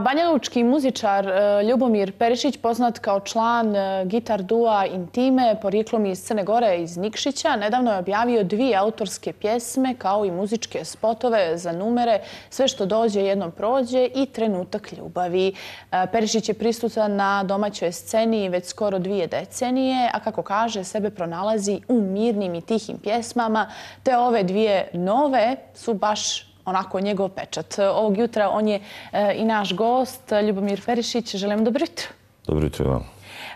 Banjalučki muzičar Ljubomir Perišić, poznat kao član gitar dua Intime, porijeklom iz Crne Gore, iz Nikšića, nedavno je objavio 2 autorske pjesme kao i muzičke spotove za numere Sve što dođe jednom prođe i Trenutak ljubavi. Perišić je prisutan na domaćoj sceni već skoro 2 decenije, a kako kaže, sebe pronalazi u mirnim i tihim pjesmama, te ove 2 nove su baš onako njegov pečat. Ovog jutra on je i naš gost, Ljubomir Perišić. Želim dobro jutro. Dobro jutro vam.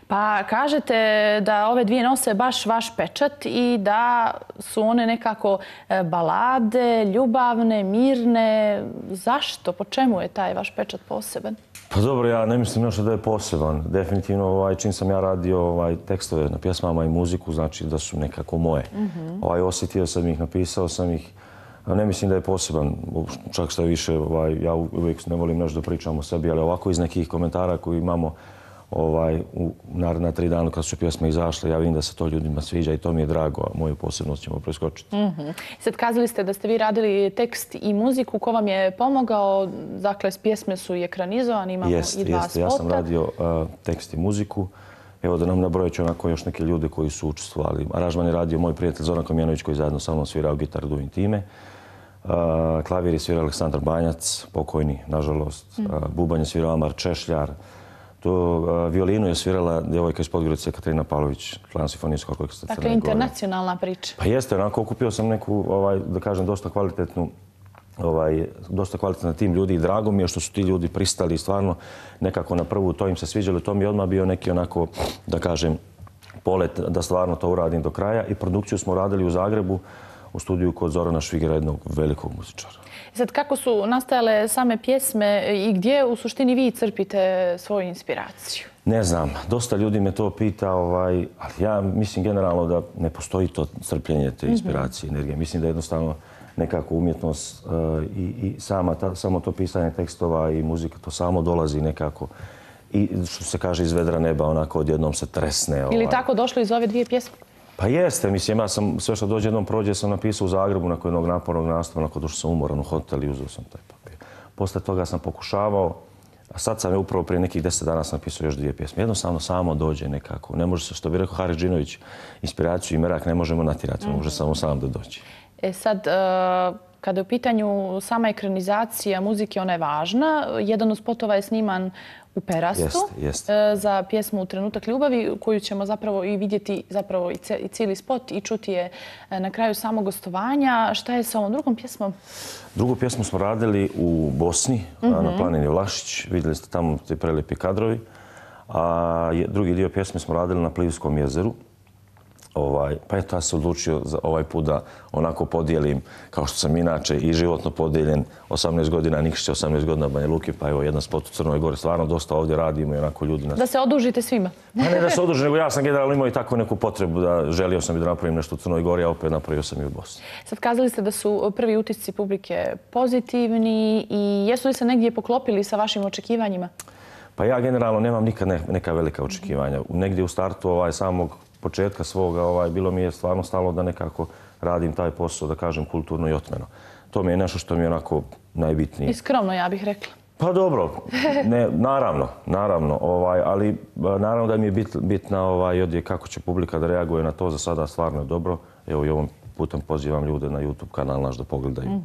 Pa kažete da ove 2 nose baš vaš pečat i da su one nekako balade, ljubavne, mirne. Zašto? Po čemu je taj vaš pečat poseban? Pa dobro, ja ne mislim još da je poseban. Definitivno čim sam ja radio tekstove na pjesmama i muziku, znači da su nekako moje. Osjetio sam ih, napisao sam ih. Ne mislim da je poseban, čak što je više, ja uvijek ne volim nešto da pričam o sebi, ali ovako iz nekih komentara koji imamo u naredna 3 dana kad su pjesme izašle, ja vidim da se to ljudima sviđa i to mi je drago, a moju posebnost ćemo preskočiti. Sad kazali ste da ste vi radili tekst i muziku, ko vam je pomogao? Dakle, pjesme su i ekranizovane, imamo i 2 spota. Ja sam radio tekst i muziku. Evo da nam nabrojat ću onako još neke ljude koji su učestvovali. Aranžman je radio moj prijatelj Zoran Komjenović koji zajedno sa mnom svirao gitar du Intime. Klavir je svirao Aleksandar Banjac, pokojni, nažalost. Bubanj je svirao Amar Češljar. Violinu je svirala djevojka iz Podgorice Katarina Pavlović, član Simfonijskog orkestra Crne Gore. Dakle, internacionalna priča. Pa jeste, onako okupio sam neku, da kažem, dosta kvalitetan tim ljudi i drago mi je što su ti ljudi pristali i stvarno nekako na prvu to im se sviđalo. To mi je odmah bio neki onako, da kažem, polet da stvarno to uradim do kraja i produkciju smo radili u Zagrebu u studiju kod Zorana Švigera, jednog velikog muzičara. Sad, kako su nastajale same pjesme i gdje u suštini vi crpite svoju inspiraciju? Ne znam, dosta ljudi me to pita, ali ja mislim generalno da ne postoji to crpljenje te inspiracije, energije. Mislim da jednostavno nekako umjetnost i samo to pisanje tekstova i muzika, to samo dolazi nekako i što se kaže iz vedra neba, onako odjednom se tresne. Ili tako došlo iz ove 2 pjesme? Pa jeste, mislim, ja sam Sve što dođe jednom prođe sam napisao u Zagrebu nakon jednog napornog nastupa, nakon došao sam umoran u hotel i uzeo sam taj papir. Posle toga sam pokušavao, a sad sam je upravo prije nekih 10 dana sam napisao još 2 pjesme. Jednostavno samo dođe nekako. Ne može se, što bi rekao Haris Džinović, inspiraciju i merak ne možemo natjerati, može samo sam da dođe. Sad, kada je u pitanju sama ekranizacija muzike, ona je važna. Jedan od spotova je sniman u Perastu za pjesmu Trenutak ljubavi, koju ćemo zapravo i vidjeti zapravo i cijeli spot i čuti je na kraju samog gostovanja. Šta je sa ovom drugom pjesmom? Drugu pjesmu smo radili u Bosni, na planini Vlašić. Vidjeli ste tamo te prelijepi kadrovi. A drugi dio pjesme smo radili na Plivskom jezeru. Pa eto, ja sam odlučio za ovaj put da onako podijelim, kao što sam inače i životno podijeljen, 18 godina Nikšića, 18 godina Banja Luke, pa evo jedan spot u Crnoj Gori. Stvarno dosta ovdje radimo i onako ljudi nas... Da se odužite svima. Ne da se odužim, nego ja sam generalno imao i tako neku potrebu da želio sam i da napravim nešto u Crnoj Gori, a opet napravio sam i u Bosni. Sad kazali ste da su prvi utisci publike pozitivni i jesu li se negdje poklopili sa vašim očekivanjima? Pa ja generalno nemam nikad neka velika očekivanja. Negdje u startu samog početka svoga bilo mi je stvarno stalo da nekako radim taj posao, da kažem, kulturno i otmeno. To mi je nešto što mi je onako najbitnije. I skromno, ja bih rekla. Pa dobro, naravno, ali naravno da mi je bitna kako će publika da reaguje na to. Za sada stvarno je dobro. Evo i ovom putem pozivam ljude na YouTube kanal naš da pogledaju.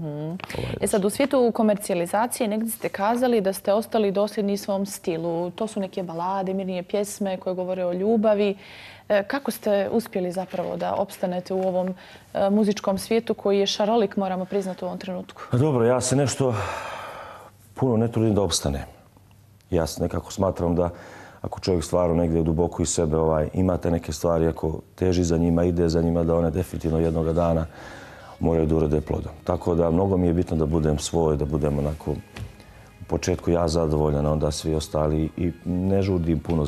Sad, u svijetu komercijalizacije negdje ste kazali da ste ostali dosljedni svom stilu. To su neke balade, mirnije pjesme koje govore o ljubavi. Kako ste uspjeli zapravo da opstanete u ovom muzičkom svijetu koji je šarolik, moramo priznati u ovom trenutku? Dobro, ja se nešto puno ne trudim da opstane. Ja nekako smatram da ako čovjek stvarno negdje duboko iz sebe imate neke stvari, ako teži za njima, ide za njima, da one definitivno jednoga dana moraju da urode plodom. Tako da mnogo mi je bitno da budem svoj, da budem onako u početku ja zadovoljan, a onda svi ostali i ne žudim puno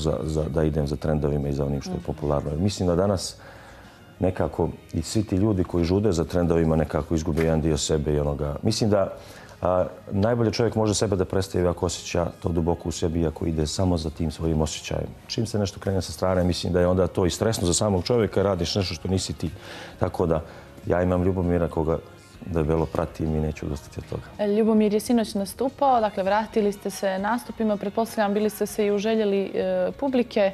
da idem za trendovima i za onim što je popularno. Mislim da danas nekako i svi ti ljudi koji žude za trendovima nekako izgube jedan dio sebe i onoga. Mislim da najbolje čovjek može sebe da predstavi ako osjeća to duboko u sebi i ako ide samo za tim svojim osjećajem. Čim se nešto krene sa strane, mislim da je onda to i stresno za samog čovjeka, radiš nešto što nisi ti. Tako da ja imam Ljubomira koga debelo pratim i neću odustati od toga. Ljubomir je sinoć nastupao, dakle vratili ste se nastupima, pretpostavljam bili ste se i uželjeli publike.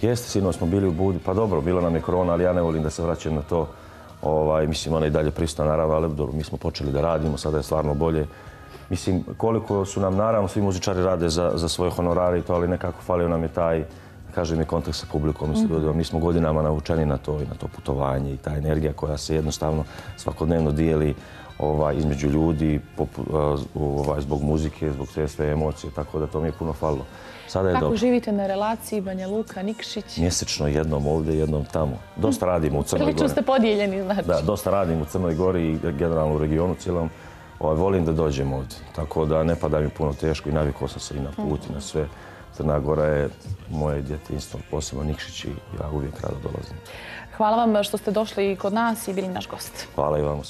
Jeste, sinoć smo bili u Budi, pa dobro, bila nam je korona, ali ja ne volim da se vraćam na to. Mislim, ona je i dalje prisutna, naravno, ali dobro, mi smo počeli da radimo, sada je stvarno bolje. Mislim, koliko su nam, naravno, svi muzičari rade za svoje honorare i to, ali nekako falio nam je taj, kažem, i kontakt sa publikom. Mi smo godinama navučeni na to i na to putovanje i ta energija koja se jednostavno svakodnevno dijeli između ljudi zbog muzike, zbog sve emocije, tako da to mi je puno falilo. Sada je dobro. Kako živite na relaciji Banja Luka, Nikšić? Mjesečno, jednom ovdje, jednom tamo. Dosta radimo u Crnoj Gori. Prilično ste podijeljeni, znači. Da, dosta radimo u Crnoj Gori i generalno u regionu cijelom. Volim da dođem ovdje, tako da ne pada mi puno teško i navikao sam se i na put i na sve. Crna Gora je moje djetinjstvo, posebno Nikšić i ja uvijek rado dolazim. Hvala vam što ste došli kod nas i bili naš gost. Hvala i vam.